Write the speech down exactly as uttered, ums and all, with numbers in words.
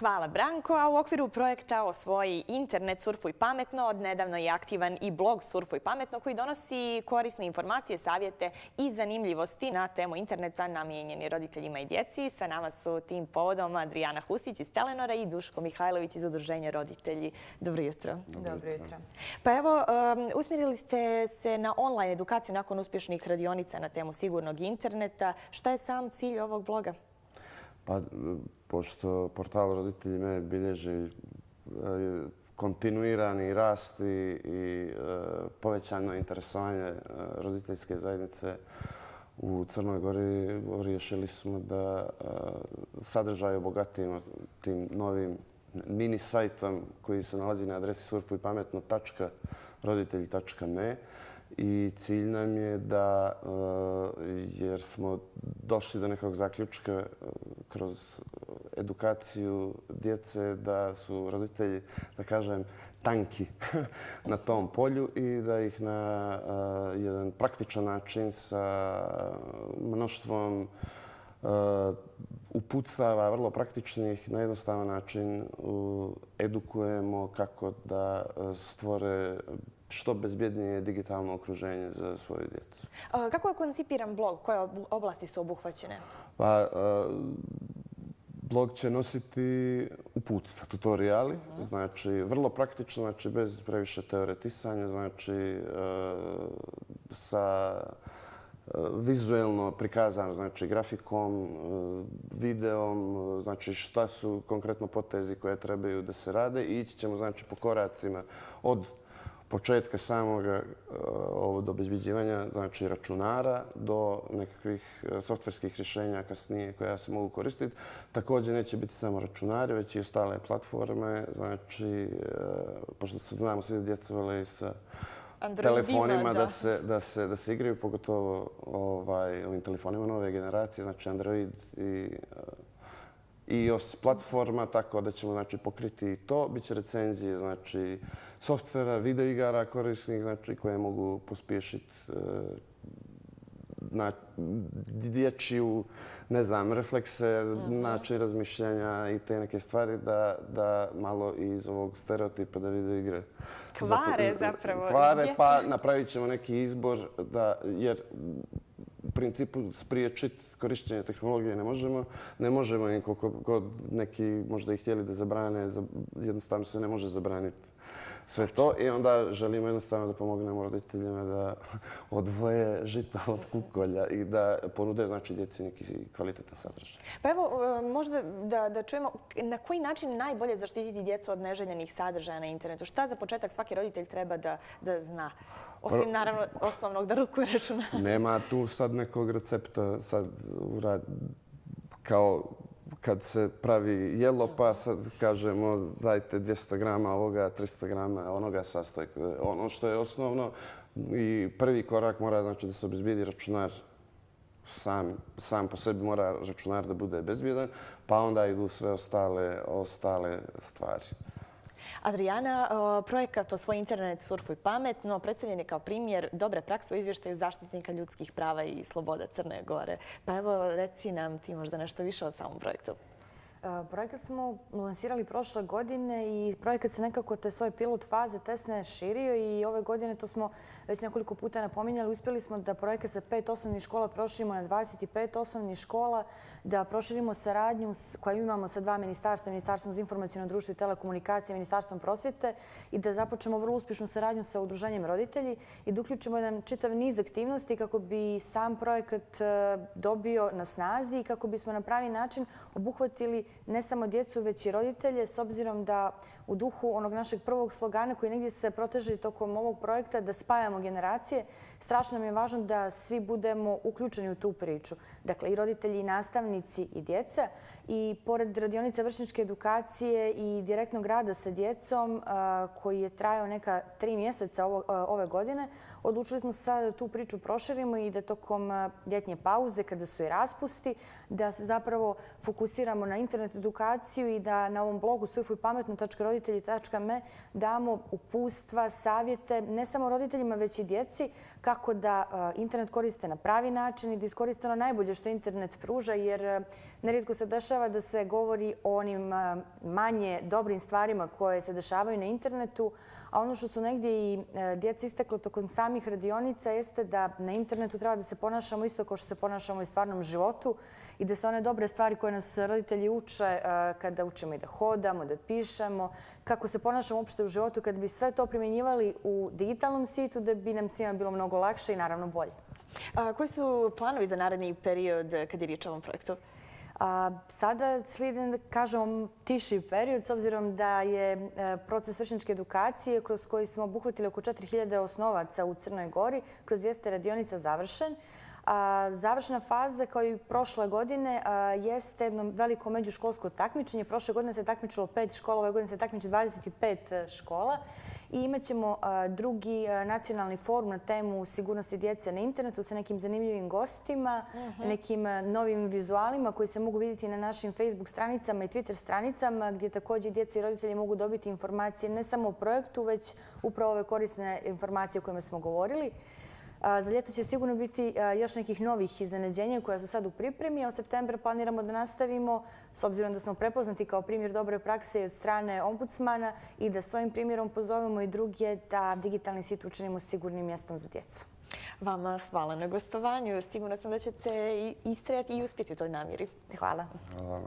Hvala Branko, a u okviru projekta Osvoji internet, surfuj pametno, odnedavno je aktivan i blog Surfuj pametno koji donosi korisne informacije, savjete i zanimljivosti na temu interneta namijenjeni roditeljima i djeci. Sa nama su tim povodom Adrijana Hustić iz Telenora i Duško Mihajlović iz Udruženja roditelji. Dobro jutro. Dobro jutro. Pa evo, usmjerili ste se na online edukaciju nakon uspješnih radionica na temu sigurnog interneta. Šta je sam cilj ovog bloga? Pa, pošto portal Roditelji me bilježi kontinuirani rast i povećano interesovanje roditeljske zajednice u Crnoj Gori, riješili smo da sadržaj obogatimo tim novim mini sajtom koji se nalazi na adresi surfuj pametno tačka roditelji tačka me. I cilj nam je da, jer smo došli do nekog zaključka kroz edukaciju djece, da su roditelji, da kažem, tanki na tom polju i da ih na jedan praktičan način sa mnoštvom uputstava, vrlo praktičnih, na jednostavan način edukujemo kako da stvore što bezbjednije digitalno okruženje za svoju djecu. Kako je koncipiran blog? Koje oblasti su obuhvaćene? Pa, blog će nositi uputstva, tutoriali, znači vrlo praktično, znači bez previše teoretisanja, znači sa vizuelno prikazano, znači grafikom, videom, znači šta su konkretno potezi koje trebaju da se rade i ići ćemo znači po koracima od početka samog od obezbeđivanja znači računara do nekakvih softverskih rješenja kasnije koja se mogu koristiti. Također neće biti samo računari, već i ostale platforme. Znači, pošto se znamo, svi djeca vole i sa telefonima da se, da, se, da se igraju, pogotovo ovaj, ovim telefonima nove generacije, znači Android i iOS platforma, tako da ćemo znači, pokriti i to. Biće recenzije znači, softvera, videoigara korisnih znači, koje mogu pospješiti na dječju, ne znam, reflekse, mm-hmm. način razmišljanja i te neke stvari da, da malo iz ovog stereotipa da videoigre kvare zapravo. Kvare, pa napravit ćemo neki izbor da, jer u principu spriječiti korištenje tehnologije ne možemo. Ne možemo i koliko god neki možda i htjeli da zabrane, jednostavno se ne može zabraniti sve to. I onda želimo jednostavno da pomognemo roditeljima da odvoje žita od kukolja i da ponude znači djeci neki kvalitetan sadržaj. Pa evo, možda da, da čujemo na koji način najbolje zaštititi djecu od neželjenih sadržaja na internetu. Šta za početak svaki roditelj treba da, da zna? Osim, naravno, osnovnog da rukuje računara. Nema tu sad nekog recepta. Sad, kao kad se pravi jelo, pa sad kažemo dajte dvjesto grama ovoga, tristo grama onoga sastojka. Ono što je osnovno i prvi korak mora znači da se obezbijedi računar sam, sam po sebi mora računar da bude bezbjedan, pa onda idu sve ostale, ostale stvari. Adrijana, projekat Osvoji internet, surfuj pametno predstavljen je kao primjer dobre prakse u izvještaju zaštitnika ljudskih prava i sloboda Crne Gore. Pa evo, reci nam ti možda nešto više o samom projektu. Projekat smo lansirali prošle godine i projekat se nekako te svoje pilot faze testne širio i ove godine, to smo već nekoliko puta napominjali, uspjeli smo da projekat sa pet osnovnih škola proširimo na dvadeset pet osnovnih škola, da proširimo saradnju koju imamo sa dva ministarstva, Ministarstvom za informaciono društvo i telekomunikacije, Ministarstvom prosvjete i da započnemo vrlo uspješnu saradnju sa Udruženjem roditelji i da uključimo jedan čitav niz aktivnosti kako bi sam projekat dobio na snazi i kako bismo na pravi način obuhvatili ne samo djecu, već i roditelje, s obzirom da u duhu onog našeg prvog slogana koji negdje se proteže tokom ovog projekta da spajamo generacije, strašno nam je važno da svi budemo uključeni u tu priču. Dakle, i roditelji, i nastavnici, i djeca. I pored radionice vršnjačke edukacije i direktnog rada sa djecom, koji je trajao neka tri mjeseca ove godine, odlučili smo se sada da tu priču proširimo i da tokom ljetnje pauze, kada su i raspusti, da se zapravo fokusiramo na internet internet edukaciju i da na ovom blogu surfuj pametno tačka roditelji tačka me damo upustva, savjete, ne samo roditeljima, već i djeci, kako da internet koriste na pravi način i da iskoriste ono najbolje što internet pruža, jer nerijetko se dešava da se govori o onim manje dobrim stvarima koje se dešavaju na internetu, a ono što su negdje i djeca isteklo tokom samih radionica jeste da na internetu treba da se ponašamo isto kao što se ponašamo i u stvarnom životu i da se one dobre stvari koje nas roditelji uče kada učimo i da hodamo, da pišemo, kako se ponašamo uopšte u životu, kada bi sve to primjenjivali u digitalnom svijetu, da bi nam svima bilo mnogo lakše i naravno bolje. A koji su planovi za naredni period kad je riječ o ovom projektu? A sada slijedi, da kažemo, tiši period, s obzirom da je proces vršnjačke edukacije kroz koji smo obuhvatili oko četiri hiljade osnovaca u Crnoj Gori kroz dvjesto radionica završen. Završna faza, kao i prošle godine, jeste jedno veliko međuškolsko takmičenje. Prošle godine se takmičilo pet škola, ove godine se takmiči dvadeset pet škola. I imat ćemo drugi nacionalni forum na temu sigurnosti djece na internetu sa nekim zanimljivim gostima, nekim novim vizualima koji se mogu vidjeti na našim Facebook stranicama i Twitter stranicama, gdje također djeca i roditelji mogu dobiti informacije ne samo o projektu, već upravo ove korisne informacije o kojima smo govorili. Za ljeto će sigurno biti još nekih novih iznenađenja koja su sad u pripremi, a od septembra planiramo da nastavimo, s obzirom da smo prepoznati kao primjer dobre prakse od strane ombudsmana i da svojim primjerom pozovemo i druge da digitalni svijet učinimo sigurnim mjestom za djecu. Vama hvala na gostovanju. Sigurna sam da ćete istrajati i uspjeti u toj namjeri. Hvala. Hvala.